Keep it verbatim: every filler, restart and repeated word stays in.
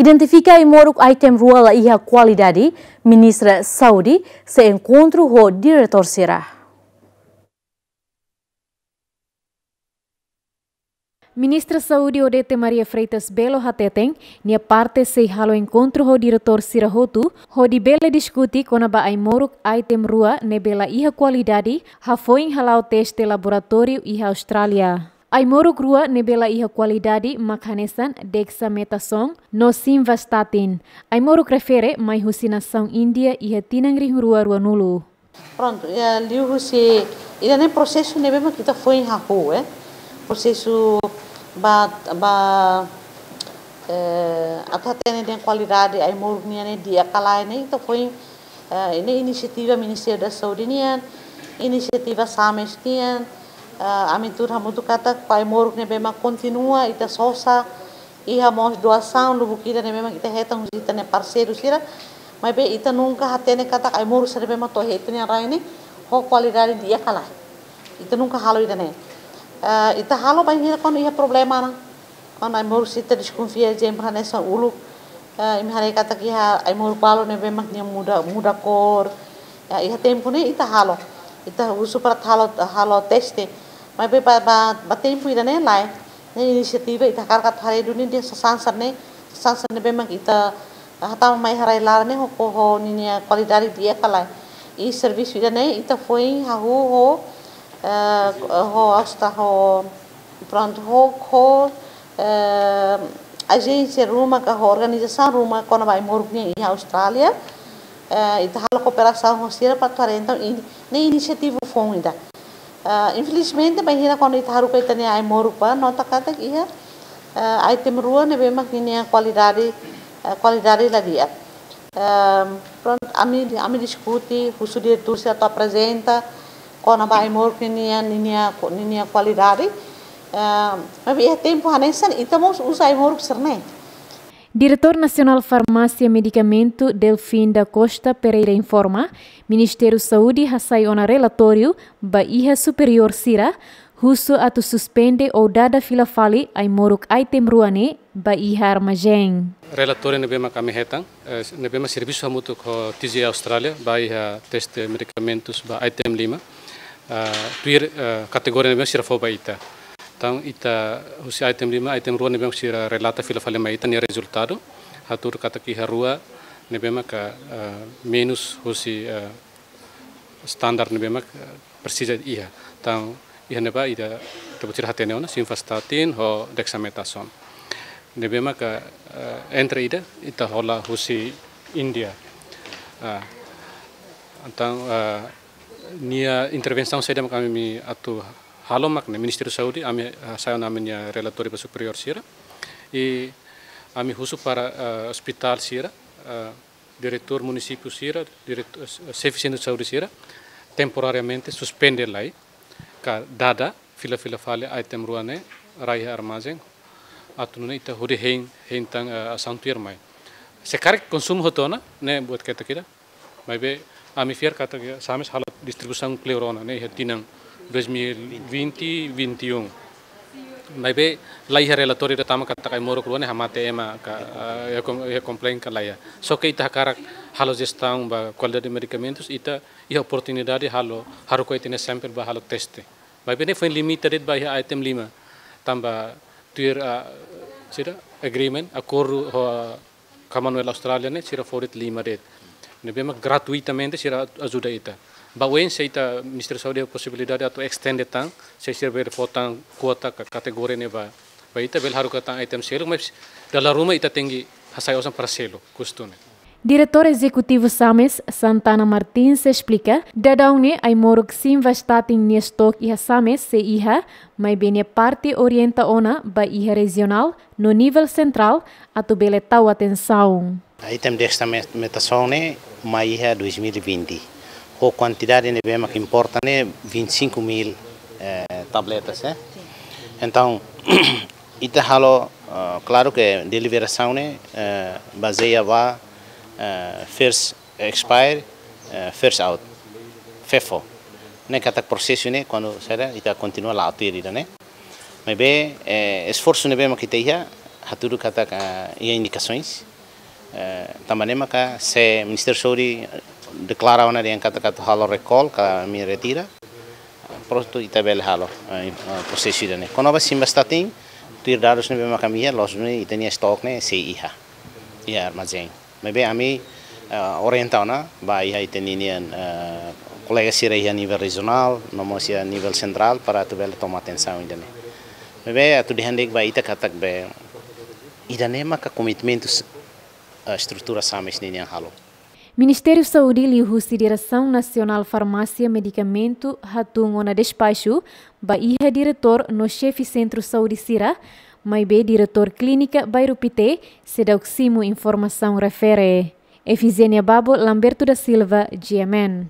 Identifika ai-moruk item rua la iha kualidade, Ministra Saúde sei enkontru ho diretór sira. Ministra Saúde Odete Maria Freitas Belo hateten, nia parte sei halo enkontru ho diretór sira hotu, hodi bele diskute kona-ba ai-moruk item rua ne'ebé la iha kualidade, hafoin hala'o teste laboratóriu iha Austrália. Ai-moruk rua ne'ebé la iha kualidade mak hanesan dexamethasone no simvastatin. Ai-moruk refere mai husi nasaun Índia iha tinan rihun rua ruanulu. Prontu, ya, liuhusi ida-ne'e prosesu ne'ebé mak ita foin hahú, eh. Prosesu ba, ba, eh, atu hatene dehan kualidade ai-moruk nian ne'e di'ak ka lae ne'e ita foin, eh, ne'e inisiativa Ministériu da Saúde nian, inisiativa SAMES nian, eh, ami tuur hamutuk katak ba ai-moruk ne'ebé mak kontinua ita sosa, iha mós doasaun lubuk ida ne'ebé mak ita hetan husi ita-nia parseiru sira, maibé ita nunka hatene katak ai-moruk sira ne'ebé mak to'o iha ita-nia rai ne'e ho kualidade di'ak ka lae. Ita nunka halo ida-ne'e. Eh, ita halo bainhira kuandu iha problema ona. Kuandu ai-moruk sira ita deskonfia, ezemplu hanesan uluk, eh, imi haree katak iha ai-moruk balu ne'ebé mak nia muda, muda kór. Ya, iha tempu ne'e ita halo. Ita husu para halo, halo teste. Maibé ba, ba, ba tempu ida-ne'e lae. Ne'e inisiativa ita hakarak atu haree duni dehan sasán sira-ne'e, sasán sira ne'ebé mak ita hatama mai iha rai-laran ne'e ho, ho, ho ninia kualidade di'ak ka lae. I servisu ida-ne'e ita foin hahú ho, eh, ho Austra-, ho, prontu, ho, ho, eh, ajénsia ruma ka ho organizasaun ruma kona-ba ai-moruk nian iha Austrália. Eh, ita halo kooperasaun ho sira para atu haree entaun ini, ne'e inisiativa foun ida. Ah, infelizmente, bainhira kuandu ita haruka ita-nia ai-moruk bá, nota katak iha, ah, item rua ne'ebé mak ninia kualidade, ah, kualidade la di'ak. Ehm, prontu, ami, ami diskute, husu diretór sira atu aprezenta kona-ba ai-moruk ninia, ninia, ninia kualidade. Ehm, maibé iha tempu hanesan ita mós uza ai-moruk sira-ne'e. Diretór Nasionál Farmásia Medikamentu, Delfim da Costa Pereira, informa, Ministériu Saúde hasai ona relatóriu ba iha superiór sira, husu atu suspende ou dada fila fali ai-moruk item rua ne'e ba iha armazén. Relatóriu ne'ebé mak ami hetan, eh, ne'ebé mak servisu hamutuk ho T G A Austrália ba iha teste medikamentus ba item lima, ah, tuir, eh, kategoria ne'ebé mak sira fó ba ita. Entaun, ita husi item lima, item rua ne'ebé mak sira relata fila fali mai ita nia rezultadu, hatudu katak iha rua ne'ebé maka, eh, menus husi, eh, standar ne'ebé mak, eh, presiza iha. Entaun, iha ne'ebá ita, ita-boot sira hatene ona, simvastatin ho dexamethasone. Ne'ebé maka, eh, entre ida, ita hola husi Índia. Ah, entaun, eh, nia intervensaun saida mak ami atu halo mak ne'e Ministériu Saúde, ami, eh, hasai ona ami-nia relatóriu ba superiór sira. I ami husu para, eh, ospitál sira, eh, diretór munisípiu sira, diretór, eh, xefe sentru saúde sira, temporariamente suspende lai, ka dada fila fila fali item rua ne'e, rai iha armazén, atu nune'e ita hodi hein, hein tan, eh, asaun tuirmai. Se karik konsumu hotu ona, ne'e buat ketak ida. Maibé, ami fiar katak SAMES halo distribuisaun kleur ona, ne'e iha tinan dois mil e vinte, vinte e um. Maibé, la iha relatóriu ida tama katak ai-moruk rua ne'e hamate ema ka, eh, iha kom-, iha komplain ka la iha. Só ke ita hakarak halo jestaun ba kualidade medikamentus, ita iha oportunidade halo, haruka ita-nia sample ba halo teste. Maibé ne'e foin limita de'it ba iha item lima. Tanba tuir, ah, sira agreement, akordu ho, ah, Commonwealth Austrália ne'e sira fó de'it lima de'it. Ne'ebé mak gratuitamente sira ajuda ita. Ba oin se ita Ministériu Saúde posibilidade atu estende tan, se sira bele fó tan kuota ka kategoria ne'e ba, ba ita bele haruka tan item seluk, mas dala ruma ita tenke hasai osan para selu, kustu ne'e. Diretór Ezekutivu SAMES, Santana Martins, esplika, daudaun ne'e ai-moruk simvastatin nia stok iha SAMES sei iha, maibé nia parte orienta ona ba iha rejionál no nivel sentrál atu bele tau atensaun. Item dexamethasone mai iha dois mil e vinte. Ho kuantidade ne'ebé mak importa ne'e vinte e cinco mil, eh, tabletas, eh. Entaun, ita halo, eh, klaru ke deliberasaun ne'e, eh, bazeia ba, eh, first expire, eh, first out, FIFO. Ne'e katak prosesu ne'e kuandu saida ita kontinua la'o tuir ida-ne'e. Maibé, eh, esforsu ne'ebé mak ita iha, hatudu katak, eh, iha indikasoens. Tanba ne'e maka se Ministériu Saúde deklara ona dehan katak atu halo recall ka ami retira, prontu ita bele halo prosesu ida-ne'e. Kona-ba simvastatin, tuir dadus ne'ebé maka ami iha, loos duni ita-nia estok ne'e sei iha, iha armazén. Maibé ami orienta ona ba iha ita-nia kolega sira iha nivel rejionál no mós iha nivel sentrál para atu bele toma atensaun ida-ne'e. Maibé atu dehan de'it ba ita katak be ida-ne'e maka komitmentu estrutura SAMES ninian halo. Ministériu Saúde liuhusi Diresaun Nasionál Farmásia Medikamentu hatun ona despaxu ba iha diretór no xefe sentru saúde sira, maibé diretór klínika Bairru Pité seidauk simu informasaun refere. Efizénia Babo, Lamberto da Silva, G M N.